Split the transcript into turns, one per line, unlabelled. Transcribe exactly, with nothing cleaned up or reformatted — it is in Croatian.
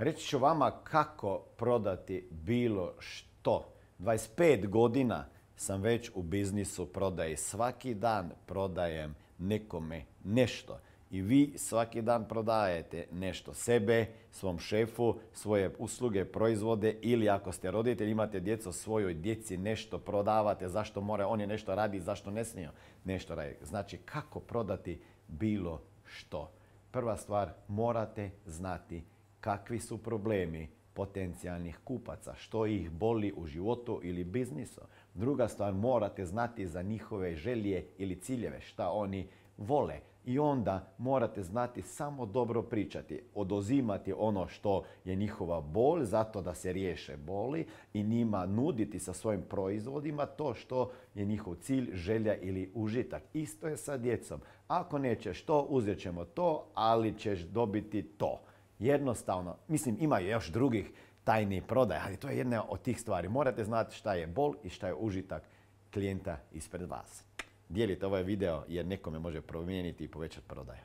Reći ću vama kako prodati bilo što. dvadeset pet godina sam već u biznisu prodaje. Svaki dan prodajem nekome nešto. I vi svaki dan prodajete nešto sebe, svom šefu, svoje usluge, proizvode ili ako ste roditelj, imate djecu, svojoj djeci nešto prodavate. Zašto mora oni nešto radi, zašto ne smiju nešto raditi. Znači kako prodati bilo što. Prva stvar, morate znati kakvi su problemi potencijalnih kupaca, što ih boli u životu ili biznisu. Druga stvar, morate znati za njihove želje ili ciljeve, šta oni vole. I onda morate znati samo dobro pričati, oduzimati ono što je njihova bol, zato da se riješe boli i njima nuditi sa svojim proizvodima to što je njihov cilj, želja ili užitak. Isto je sa djecom. Ako nećeš to, uzet ćemo to, ali ćeš dobiti to. Jednostavno, mislim, ima još drugih tajnih prodaja, ali to je jedna od tih stvari. Morate znati šta je bol i šta je užitak klijenta ispred vas. Dijelite ovaj video jer nekome može promijeniti i povećati prodaju.